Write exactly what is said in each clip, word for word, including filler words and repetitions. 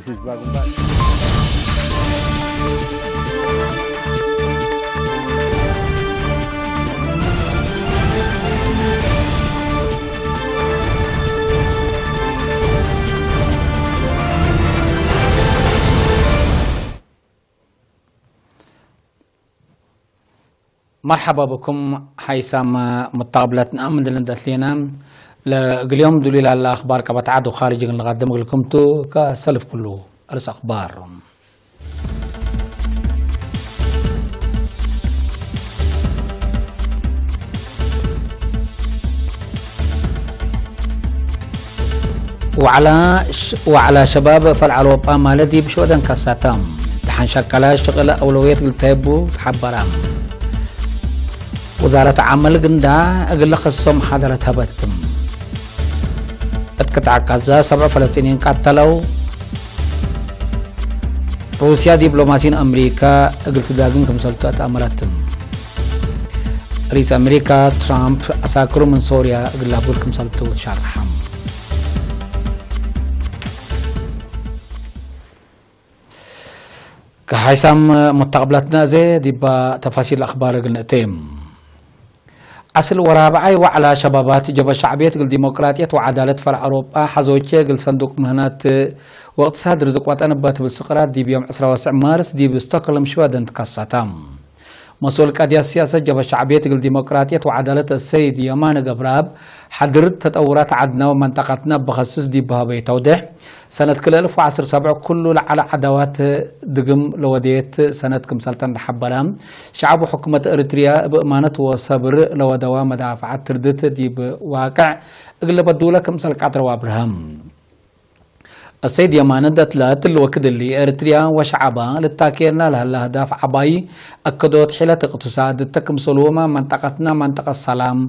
ህዝባዊ ግንባር። መርሐባ ብኩም ሐይሳም ሙተቅብለትና ምን ድል እንዴ አትሌና፣ ለእግል ዮም ዱሊ ላለ አኽባር ቀበት ዐድ ወኻርጅ እግል ንቀድም እግልኩም ቱ። ከሰልፍ ኩሉ አርእስ አኽባር። ወዐላ ሽ-፣ ወዐላ ሸባብ ፈልዐል ወጳ ማለ ዲብ ሽወደን ከሰተ። ደሐን ሸቀለ ሽቅለ አውለውየት እግል ተህቡ ተሐበረ። ውዛረት ዐመል ግንዳዕ እግል ለከስሶ መሓደረት ሀበት። እት ቅጥዕ ጋዛ ሰብዕ ፈለስጢንይን ቀተለው። ሩስያ ዲፕሎማሲን አምሪካ እግል ትዳግም ክምሰልቱ አትአመረት። ርኢስ አምሪካ ትራምፕ ዐሳክሩ ምን ሶርያ እግል ላቡል ክምሰልቱ ትሸርሐ። ከሐይሳም ሙተቅብለትነ እዜ ዲባ ተፋሲል አኽባር እግል ንእቴ። አስል ወራብዓይ ወዐላ ሸባባት ጀብሀት ሸዕብየት እግል ዲሞቅራጥየት ወዐዳለት ፈርዕ አውሮጳ ሐዞቼ እግል ሰንዱቅ ምህነት ወእቅትሳድ ርዝቅ ወጠን እበ ትብል ስቅራት ዲብ ዮም ዕስራ ወስዕ ማርስ ዲብ ስቶክሆልም ሽወደን ትከሰተ። መስኡል ቀድያት ሲያሰት ጀብሀት ሸዕብየት እግል ዲሞቅራጥየት ወዐዳለት አሰይድ የማነ ገብረአብ ሐድር ተጠውራት ዐድነ ወመንጠቀትነ እብ ከስስ ዲብ ሀበዩ ተውዴሕ፣ ሰነት ክልኤ አልፍ ወዐስር ሰብዕ ኩሉ ለዐለ ዐዳዋት ድግም ለወደየት ሰነት ክምሰልተ እንዴ ሐበረ፣ ሸዐብ ወሕኩመት ኤሪትርያ እብ እማነት ወሰብር ለወደዋ መዳፈዐት ትርድት ዲብ ዋቅዕ እግል ለበዱለ ክምሰል ቀድረው አብርሀ። አሰይድ የማነ ደትለ እትሊ ወክድ እሊ፣ ኤሪትርያ ወሸዐባ ልታኬና ለህለ አህዳፍ ዐባይ፣ አከዶት ሒለት እቅትሳድ እተ ክምሰልሁመ መንጠቀትና መንጠቀት ሰላም፣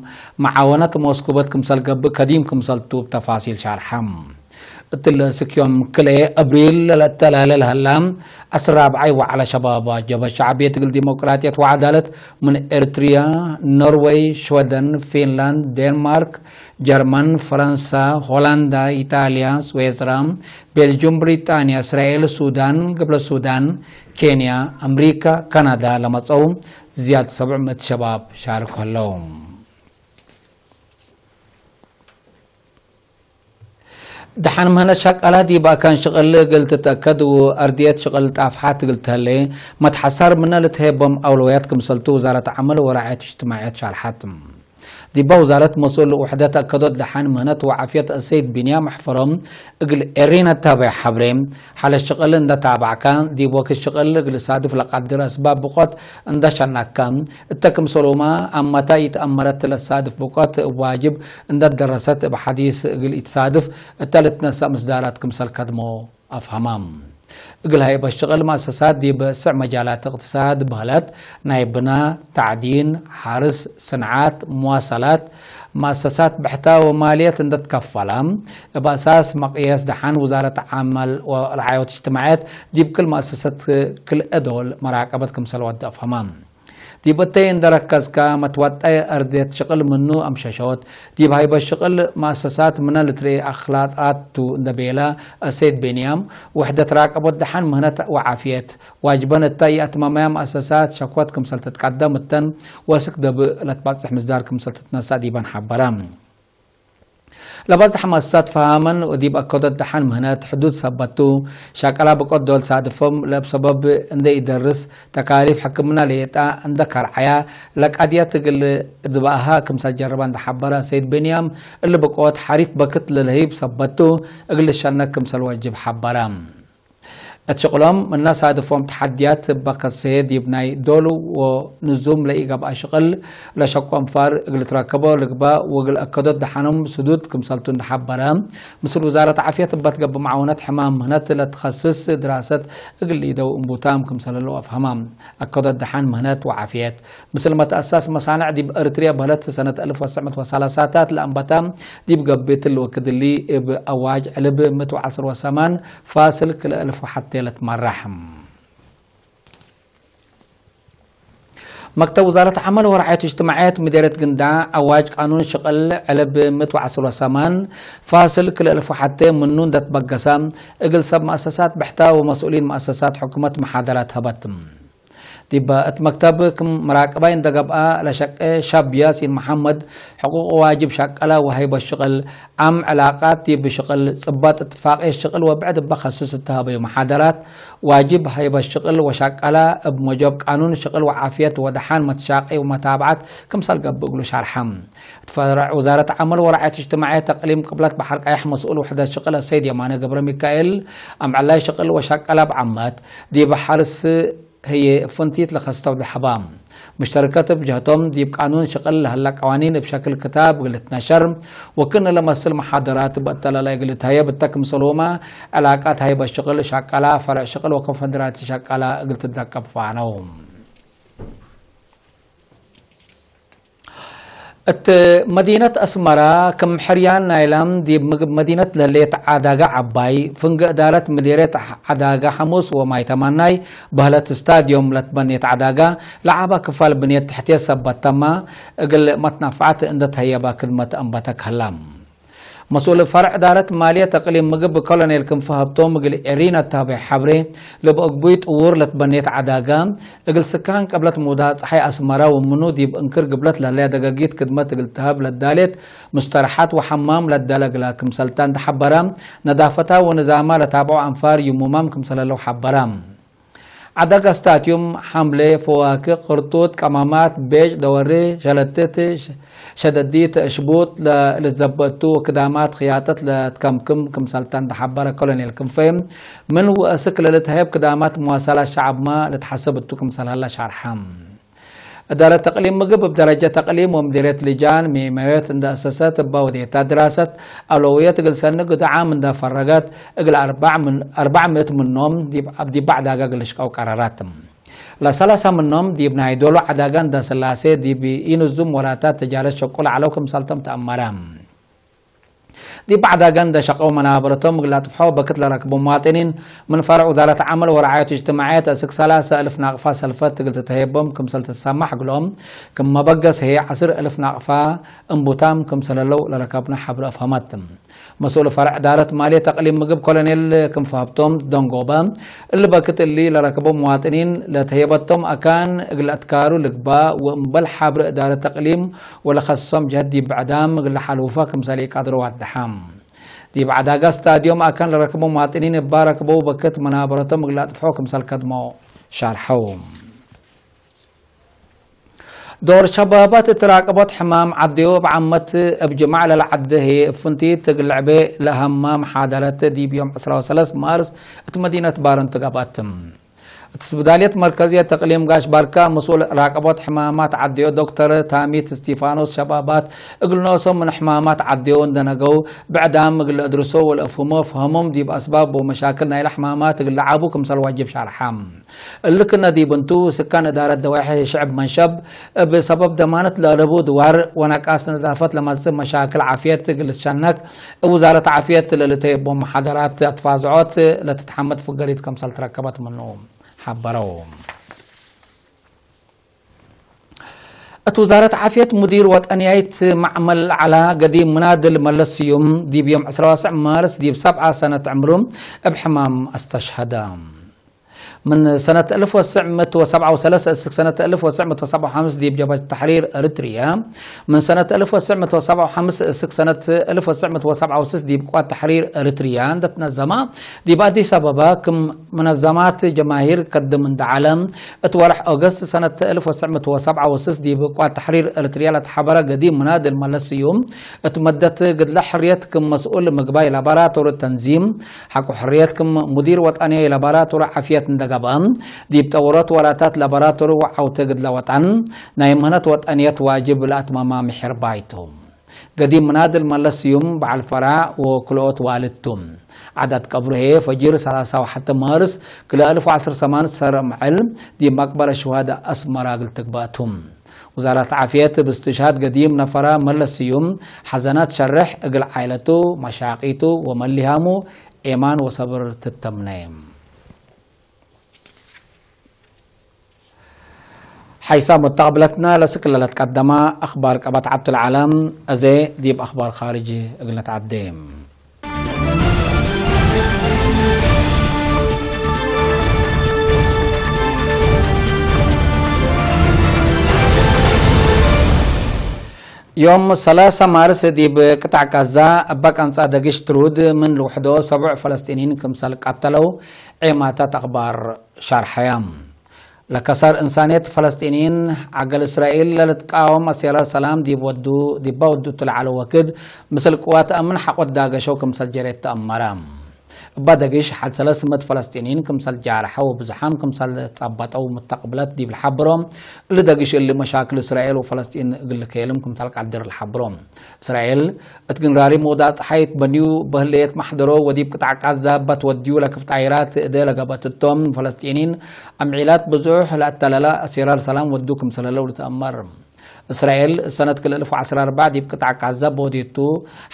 መዓወነት ሞስኩበት ክምሰል ገብእ ከዲም ክምሰልቱ እብ ተፋሲል ሻርሐ። እትሊ እስክ ዮም ክልኤ አብሪል ለለአተላለ ለህላ ዐስር ራብዓይ ወዐለ ሸባብ ጀብሀት ሸዕብየት እግል ዲሞቅራጥየት ወዐዳለት ምን ኤሪትርያ፣ ኖርወይ፣ ሽወደን፣ ፊንላንድ፣ ዴንማርክ፣ ጀርመን፣ ፈረንሳ፣ ሆላንዳ፣ ኢጣልያ፣ ስዌዝራ፣ ቤልጁም፣ ብሪጣንያ፣ እስራኤል፣ ሱዳን፣ ግብረ ሱዳን፣ ኬንያ፣ አምሪካ፣ ካናዳ ለመጸው ዝያድ ሰብዕ ምእት ሸባብ ሻርኮ ህለው። ደሐን ምህነት ሸቃላ ዲብ አካን ሽቅል እግል ትትአከድ ወአርድየት ሽቅል ጣፍሓት እግል ተህሌ መትሐሳር ምነ ልትሄቦም አውለውያት ክምሰልቱ ውዛረት ዐመል ወራዕየት እጅትማዕየት ሻርሐት። ዲበ ውዛረት መስኡል ውሕደት አከዶት ደሐን ምህነት ወዓፍየት አሰይድ ቢንያም አሕፈሮም እግል ኤሪና እታቤዕ ሐብሬ፣ ሐለት ሽቅል እንደ ታበዕከ፣ ዲብ ወክድ ሽቅል እግል ሳድፍ ለቀድር አስባብ ብቆት እንደ ሸነከ፣ እተ ክምሰልሁመ አመተ ኢተአመረት ለሳድፍ ብቆት እብ ዋጅብ እንደ ደረሰት እብ ሐዲስ እግል ኢትሳድፍ እተ ልትነሰእ ምስዳራት ክምሰል ከድሞ አፍሀመ። እግል ሀይበ ሽቅል መአሰሳት ዲብ ስዕ መጃላት እቅትሳድ በህለት፣ ናይ ብና፣ ተዕዲን፣ ሐርስ፣ ስንዓት፣ መዋሰላት፣ መአሰሳት ብሕተ ወማልየት እንደ ትከፈለ፣ እብ አሳስ መቅየስ ደሐን ውዛረት ዐመል ወረዓየት እጅትማዕየት ዲብ ክል መአሰሰት ክልኤ ዶል መራቀበት ክምሰል ወደ አፍሀመ። ዲብ እተይ እንደ ረከዝከ፣ መትወጠይ አርድየት ሽቅል ምኑ አምሸሾት። ዲብ ሀይበ ሽቅል መአሰሳት ምነ ልትርኤ አክላጣት ቱ እንደ ቤለ አሰይድ ቤንያም፣ ውሕደት ራቀቦት ደሐን ምህነት ወዓፍየት ዋጅበን እተ ኢአትመመያ መአሰሳት ሸክወት ክምሰል ትትቀደም እተን ወስክ ደብእ ለትባጽሕ ምስዳር ክምሰል ትትነሰእ ዲበን ሐበረ። ለባጽሕ መአሰሳት ፈሃመን ወዲብ አከዶት ደሐን ምህነት ሕዱድ ሰበት ቱ፣ ሸቀላ ብቆት ዶል ሳድፎም ለእብ ሰበብ እንዴ ኢደርስ፣ ተካሊፍ ሕክምና ሌጣ እንደ ከርዐያ፣ ለቀድየት እግል እድበአሃ ክምሰል ጀርበ እንደ ሐበረ ሰይድ ብንያም፣ እሊ ብቆት ሐሪት በክት ለልህይብ ሰበት ቱ፣ እግል ልሸነክ ክምሰል ወጅብ ሐበረ። እት ሽቅሎም ምነ ሳድፎም ተሐድያት እበ ከሰየ ዲብ ናይ ዶሉ ወንዙም ለኢገብአ ሽቅል ለሸቁ አንፋር እግል ትረከቦ ልግበእ ወእግል አከዶት ደሐኖም ስዱድ ክምሰልቱ እንደ ሐበረ፣ ምስል ውዛረት ዓፍየት እበ ትገብእ መዓውነት ሕማም ምህነት ለትኸስስ ድራሰት እግል ኢደው እንቡታም ክምሰለለው አፍሀማ። አከዶት ደሐን ምህነት ወዓፍየት ምስል መትአሳስ መሳንዕ ዲብ ኤሪትርያ በህለት ሰነት አልፍ ወትሰዕ ምእት ወሰላሳታት ለአንበታ ዲብ ገብእ እትሊ ወክድ እሊ እብ አዋጅ ዕልብ ምእት ወዐስር ወሰማን ፋስል ክልኤ አልፍ ወሐቴ ለትመራሕ። መክተብ ውዛረት ዐመል ወረዓየት እጅትማዕየት ምዴርየት ግንዳዕ፣ አዋጅ ቃኑን ሽቅል ዕልብ ምእት ወዐስር ወሰማን ፋስል ክልኤ እልፍ ወሐቴ ምኑ እንደ ትበገሰ፣ እግል ሰብ መአሰሳት ብሕተ ወመስኡሊን መአሰሳት ሕኩመት መሓደራት ሀበት። ዲበ እት መክተብ ክም መራቅባይ እንደ ገብአ ለሸቄ ሸብ ያሲን መሐመድ፣ ሕቁቅ ወዋጅብ ሸቀለ ወሀይበት ሽቅል፣ ዓም ዕላቃት ዲብ ሽቅል፣ ጽበጥ እትፋቅየት ሽቅል ወብዕድ እበ ከስስ እተ ሀበዩ መሓደራት፣ ዋጅብ ሀይበት ሽቅል ወሸቀለ እብ ሞጆብ ቃኑን ሽቅል ወዓፍየት ወደሓን መትሻቂ ወመታብዐት ክምሰል ገብእ እግሉ ሻርሐ። እት ፈርዕ ውዛረት ዐመል ወረዓየት እጅትማዕየት እቅሊም ቅብለት በሐር ቀየሕ መስኡል ውሕደት ሽቅል አሰይድ የማነ ገብረሚካኤል፣ አምዕላይ ሽቅል ወሸቀለ እብ ዓመት ዲብ ሐርስ ህዬ ፍንቲት ለከስተው ለሐባ። ሙሽተርከት እብ ጀህቶም፣ ዲብ ቃኑን ሽቅል ለህለ ቀዋኒን እብ ሸክል ክታብ እግል ልትነሸር፣ ወክእነ ለመስል መሓደራት እብ አተላላይ እግል ልትሀየብ እተ ክምሰልሁመ፣ ዕላቃት ሀይበት ሽቅል ሸቀላ፣ ፈርዕ ሽቅል ወኮንፈደራቲ ሸቀላ እግል ትደቀብ ፋነው። እት መዲነት አስመራ፣ ክም ሕርያን ናይላ ዲብ ምግብ መዲነት ለህሌት ዐዳጋ ዐባይ፣ ፍንጌ እዳረት ምዴርየት ዐዳጋ ሐሙስ ወማይ ተማናይ በህለት ስታድዮም ለትበኔት ዐዳጋ፣ ለዐባ ክፋል ብንየት ትሕትየት ሰበት ተማ፣ እግል መትናፍዐት እንደ ተህየባ ክድመት አንበተ ከላ። መስኡል ፈርዕ እዳረት ማልየት እቅሊም ምግብ ኮሎኔል ክንፈ ሀብቶም እግል ኤሪና እታቤ ሐብሬ፣ ለበ እግቡይ ጥዉር ለትበኔት ዐዳጋ፣ እግል ስካን ቅብለት ሙዳይ ጸሓይ አስመረ ወምኑ ዲብ እንክር ግብለት ለህለያ ደገጊት ክድመት እግል ተሀብ ለዳሌት ሙስተረሐት ወሐማም ለዳለ እግላ ክምሰልታ እንደ ሐበረ፣ ነዳፈታ ወንዛማ ለታብዖ አንፋር ይሙማም ክምሰለለው ሐበረ። ዐዳጋ ስታትዩም፣ ሐምሌ፣ ፈዋክህ፣ ቅርጡት፣ ቀማማት፣ ቤጭ፣ ደወሬ፣ ሸለትት፣ ሸደዲት፣ እሽቡጥ ለልትዘበጥ ቱ ወክዳማት ክያጠት ለትከምክም ክምሰልታ እንደ ሐበረ ኮሎኔል ክንፈ፣ ምን ወአስክ ለልትሀየብ ክዳማት መዋሰላት ሸዐብመ ልትሐሰብ እቱ ክምሰል ሀለ ሻርሐ። እዳረት ተቅሊም ምግብ እብ ደረጀት ተቅሊም ወምዲርየት ልጃን ሜመዮት እንደ አሰሰት እበ ወዴታ ድራሰት አውለውየት እግል ሰኒ ግዱዓም እንደ ፈረገት እግል አርበዕ ምን-፣ አርበዕ ምእት ምኖም ዲብ፣ ዲብ ዐዳጋ እግል ልሽቀው ቀረረት። ለሰላሳ ምኖም ዲብ ናይ ዶሉ ዐዳጋ እንደ ስላሴ ዲብ ኢንዙም ወላታት ተጃረት ሸቁል ዐለው ክምሰልቶም ተአመረ። ዲብ ዐዳገ እንደ ሸቀው መናበረቶም እግል ለአጥፍሖ በክት ለረክቦ መዋጥኒን፣ ምን ፈርዕ ውዛረት ዐመል ወረዓየት እጅትማዕየት አስክ ሰላሰ እልፍ ናቅፋ ሰልፈት እግል ትትሀየቦም ክምሰል ትትሰማሕ እግሎም፣ ክም መበገስ ህዬ ዐስር እልፍ ናቅፋ እንቡታም ክምሰለለው ለረከብነ ሐብር አፍሀመት። መስኡል ፈርዕ እዳረት ማልየት አቅሊም ምግብ ኮሎኔል ክንፈ ሀብቶም ደንጎበ፣ እሊ በክት እሊ ለረክቦ መዋጥኒን ለተህየበቶም አካን እግል አትካሩ ልግባእ ወእምበል ሐብር እዳረት ተቅሊም ወለከስሶም ጀህት ዲብ ብዕዳም እግል ለሐልውፈ ክምሰል ኢቀድሮ ወደሐ። ዲብ ዐዳጋ ስታድዮም አካን ለረክቦ መዋጥኒን እባ ረክበው በክት መናበረቶም እግል አጥፍሖ ክምሰል ከድሞ ሻርሐው። ዶር ሸባባት እት ራቀቦት ሕማም ዐዴው እብ ዓመት እብ ጅማዕ ለለዐዴ ህዬ እብ ፍንቲት እግል ልዕቤ ለሀማ መሓደረት ዲብ ዮም ዕስራ ወሰለስ ማርስ እት መዲነት ባረንቱ ገብአት። እት ስብዳልየት መርከዝየት እቅሊም ጋሽ ባርካ መስኡል ራቀቦት ሕማማት ዐዴው ዶክተር ታሚት እስቲፋኖስ ሸባባት እግል ኖሶም ምን ሕማማት ዐዴው እንደ ነገው ብዕዳም እግል ለአድርሶ ወለአፍህሞ ፈሀሞም ዲብ አስባብ ወመሻክል ናይለ ሕማማት እግል ለዓቡ ክምሰል ዋጅብ ሻርሐ። እሊ ክነ ዲብ እንቱ፣ ስካን እዳረት ደዋሒ ሽዕብ መንሸብ፣ እብ ሰበብ ደማነት ለአለቡ ድዋር ወነቃስ ነዳፈት ለመጽእ መሻክል ዓፍየት እግል ልትሸነክ፣ እብ ውዛረት ዓፍየት ለልተየቦ መሓደራት አትፋዝዖት ለትትሐመድ ፍገሪት ክምሰል ትረከበት ምኑ ሐበረው። እት ውዛረት ዓፍየት ሙዲር ወጠንያይት መዕመል ዐላ ገዲም ምናድል መለስ ስዩም፣ ዲብ ዮም ዕስራ ወሰዕ ማርስ ዲብ ሰብዓ ሰነት ዕምሩ እብ ሕማም አስተሽሀደ። ምን ሰነት እልፍ ወትስዕ ምእት ወሰብዓ ወሰለስ እስክ ሰነት እልፍ ወትስዕ ምእት ወሰብዓ ወሐምስ ዲብ ጀብሀት ተሕሪር ኤሪትርየ፣ ምን ሰነት እልፍ ወትስዕ ምእት ወሰብዓ ወሐምስ እስክ ሰነት እልፍ ወትስዕ ምእት ወሰብዓ ወስስ ዲብ ቅዋት ተሕሪር ኤሪትርየ እንደ ትነዘመ፣ ዲብ አዲስ አበባ ክም መነዘማት ጀማሂር ከድም እንደ ዐለ፣ እት ወርሕ ኦገስት ሰነት እልፍ ወትስዕ ምእት ወሰብዓ ወስስ ዲብ ቅዋት ተሕሪር ኤሪትርየ ለተሐበረ ገዲም ምናድል መለስ ስዩም፣ እት መደት ግድለ ሕርየት ክም መስኡል ምግባይ ላቦራቶሪ ተንዚም፣ ሐቆ ሕርየት ክም ሙዲር ወጠንያይ ላቦራቶሪ ዓፍየት እንደ ገብአ፣ ዲብ ጠውሮት ወላታት ላቦራቶሪ ወዐውቴ ግድለ ወጠን፣ ናይ ምህነት ወጠንየት ዋጅብ ለአትመማ ምሒር ባይ ቱ። ገዲም ምናድል መለስ ስዩም በዐል ፈራዕ ወክልኦት ዋልድ ቱ። ዐዳድ ቀብሩ ህዬ ፈጅር ሰላሳ ወሐተ ማርስ ክልኤ እልፍ ወዐስር ሰማን ሰር ምዕል ዲብ መቅበረ ሹሃዳ አስመራ እግል ትግባእ ቱ። ውዛረት ዓፍየት እብ እስትሽሃድ ገዲም ነፈራ መለስ ስዩም ሐዘናት ሸርሕ እግል ዓኢለቱ፣ መሻቂቱ ወመሊሃሙ ኤማን ወሰብር ትተምነ። ሐይሳም ወተቅብለትና ለስክለ ለትቀደማ አኽባር ቀበት ዐብቱ ለዐለም፣ አዜ ዲብ አኽባር ካርጅ እግል ነትዐዴ። ዮም ሰላሳ ማርስ ዲብ ቅጣዕ ጋዛ እበ ቀንጻ ደግሽ ትሩድ ምን ልውሕዶ ሰቡዕ ፈለስጢኒን ክምሰል ቀተለው ዔማታት አኽባር ሻርሐያ። ለከሰር እንሳንየት ፈለስጢኒን፣ ዐገል እስራኤል ለልትቃወም አሴራር ሰላም ዲብ ወዱ፣ ዲባ ወዱቱ ለዐለ ወክድ፣ ምስል ቅዋት አምን ሐቆ ትዳገሸው ክምሰል ጀሬት ተአመረ። እባ ደግሽ ሐድ ሰለስ ምእት ፈለስጢኒን ክምሰል ጃርሐ ወብዙሓም ክምሰል ጸበጠው ምተቅብለት ዲብ ለሐብሮ፣ እሊ ደግሽ እሊ መሻክል እስራኤል ወፈለስጢን እግል ልከየልም ክምሰል ቀድር ለሐብሮ። እስራኤል እት ግንራሪ ሙዳት ጸሓይ ትበንዩ በህለየት መሕደሮ ወዲብ ቅጣዕ ቃዛ እባ ትወድዩ ለክፍ ጣይራት እደ ለገበት እቶም ፈለስጢኒን አምዒላት ብዙሕ ለአተለለ አሴራር ሰላም ወዱ ክምሰል ህለው ልትአመር። እስራኤል ሰነት ክልኤ እልፍ ወዐስራ ወአርበዕ ዲብ ቅጣዕ ቃዛ በወዴቱ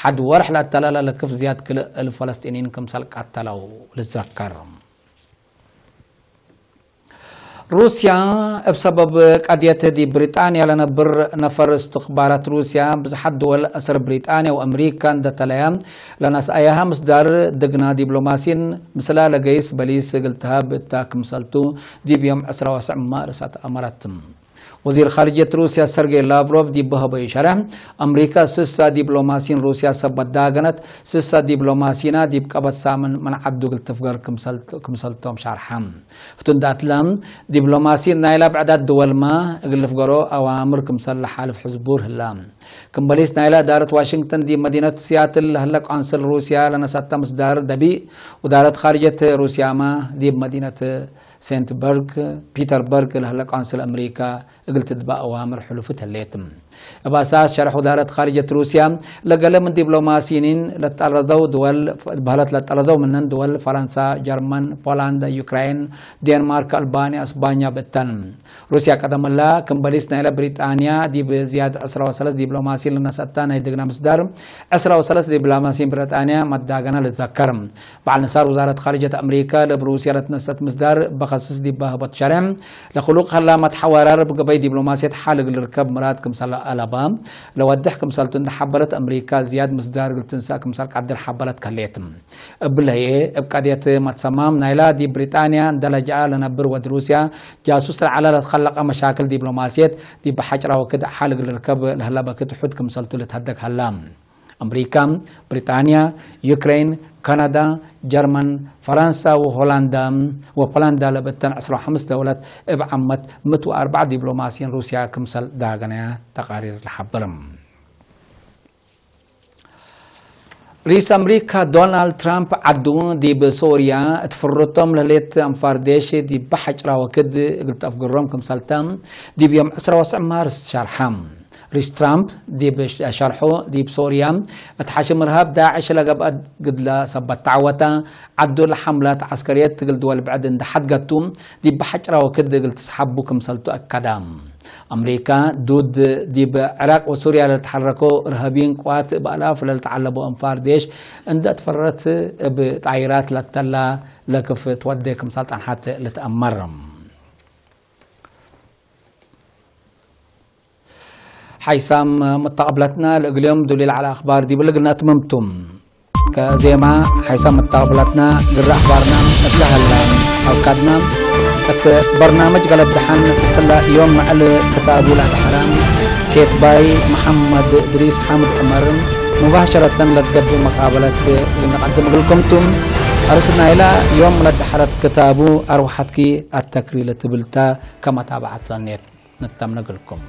ሐድ ወርሕ ለአተለለ ለክፍ ዝያድ ክልኤ እልፍ ፈለስጢኒን ክምሰል ቀተለው ልትዘከር። ሩስያ፣ እብ ሰበብ ቀድየት ዲብ ብሪጣንያ ለነብር ነፈር እስትኽባራት ሩስያ፣ ብዝሓት ድወል አሰር ብሪጣንያ ወአምሪካ እንደ ተለያ፣ ለነስአያሃ ምስዳር ድግና ዲብሎማሲን ምስላ ለገይስ በሊስ እግል ተሀብ እታ ክምሰልቱ፣ ዲብ ዮም ዕስራ ወሰዕ ማርስ አትአመረት። ወዚር ካርጅየት ሩስያ ሰርጌይ ላቭሮቭ ዲብ በሀበዩ ሸርሕ፣ አምሪካ ስሳ ዲብሎማሲን ሩስያ ሰበት ዳገነት፣ ስሳ ዲብሎማሲና ዲብ ቀበት ሳምን ምን ዐዱ እግል ትፍገር ክምሰል፣ ክምሰልቶም ሻርሐ። ህቱ እንደ አትለ፣ ዲብሎማሲን ናይላ ብዕዳት ድወልመ እግል ልፍገሮ አዋምር ክምሰል ለሓልፍ ሕዝቡር ህለ። ክም በሊስ ናይላ እዳረት ዋሽንግተን ዲብ መዲነት ሲያትል ለህለ ቆንስል ሩስያ ለነሰተ ምስዳር ደቢእ፣ ወዳረት ካርጅየት ሩስያመ ዲብ መዲነት ሴንት በርግ ፒተርበርግ ለህለ ቆንስል አምሪካ እግል ትትበእ አዋምር ሕሉፍት ህሌት። እብ አሳስ ሸርሕ ውዳረት ካርጀት ሩስያ፣ ለገሌ ምን ዲብሎማሲይኒን ለትጠረዘው ድወል፣ በህለት ለትጠረዘው ምንን ድወል ፈረንሳ፣ ጀርመን፣ ፖላንድ፣ ዩክራይን፣ ዴንማርክ፣ አልባንያ፣ እስባኛ ብእተን። ሩስያ ቀደም እላ፣ ክም በሊስ ናይለ ብሪጣንያ፣ ዲብ ዝያድ ዕስራ ወሰለስ ዲብሎማሲን ለነሰአተ ናይ ድግና ምስዳር፣ ዕስራ ወሰለስ ዲብሎማሲን ብሪጣንያ መዳገና ልትዘከር። በዐል ንሳር ውዛረት ካርጀት አምሪከ ለእብ ሩስያ ለትነሰአት ምስዳር በከስስ ዲበ ህቦት ሸሬሕ፣ ለክሉቅ ሀላ መትሐወራር እብ ገበይ ዲብሎማስየት ሐል እግል ልርከብ ምራድ ክምሰል አለበ ለወድሕ ክምሰልቱ እንዴ ሐበረት፣ አምሪከ ዝያድ ምስዳር እግል ትንሰእ ክምሰል ቀድር ሐበረት ከሌት። እብለ ህዬ፣ እብ ቀድየት መትሰማም ናይላ ዲብ ብሪጣንያ እንዴ ለጀአ ለነብር ወድ ሩስያ ጃሱስ ለዐለ ለትከለቀ መሻክል ዲብሎማስየት ዲብ ሐጭራ ወክድ ሐል እግል ልርከብ ለህለ በክት ሑድ ክምሰልቱ ልትሀደግ ሀላ። አምሪካ፣ ብሪጣንያ፣ ዩክሬን፣ ካናዳ፣ ጀርመን፣ ፈራንሳ ወሆላንዳ ወፖላንዳ ለብእተን ዕስራ ወሐምስ ደውለት እብ ዓመት ምእት ወአርበዕ ዲብሎማሲን ሩስያ ክምሰል ዳገነያ ተቃሪር ለሐብር። ርኢስ አምሪካ ዶናልድ ትራምፕ ዐዱ ዲብ ሶርያ እት ፍርቶም ለህሌት አንፋር ዴሽ ዲብ ሐጭራ ወክድ እግል ተአፍግሮም ክምሰልተ ዲብ ዮም ዕስራ ወሰዕ ማርስ ሸርሐ። ርኢስ ትራምፕ ዲብ ሸርሖ፣ ዲብ ሶርያ እት ሐሽም እርሃብ ዳዕሽ ለገብአ ግድለ ሰበት ተዐወተ፣ ዐዱ ለሐምላት ዐስከርየት እግል ድወል ብዕድ እንዴ ሐድገቱ፣ ዲብ ሐጭራ ወክድ እግል ትስሐቡ ክምሰልቱ አከደ። አምሪካ፣ ዱድ ዲብ ዕራቅ ወሱርያ ለልትሐረኮ እርሃብይን ቅዋት እብ አላፍ ለልትዐለቦ አንፋር ዴሽ እንዴ አትፈረረት፣ እብ ጣይራት ለተላ ለክፍ ትወዴ ክምሰል ጸንሐት ልትአመር። ሐይሳም መተቀብለትና፣ ለእግልዮም ዱሊል ዐለ አኽባር ዲብለ እግል ነአትምም ቱ። ከዜማ ሐይሳም መተቀብለትና፣ ግረ አኽባርና እትለ ሀላ አውካድና፣ እት በርናምጅ ገለብ ደሐን፣ ስለ ዮም መዕል ክታቡ ለአድሐረ ኬትባይ መሐመድ እድሪስ ሓምድ ዑመር፣ ሙባሸረተን ለትገብእ መቃበለት እግል ነቀድም እግልኩም ቱ። አርስ ናይላ ዮም ለአድሐረት ክታቡ አርወሐትኪ አተክሪ ለትብል ተ፣ ከመታብዐት ሰኔት። ነተምነ እግልኩም።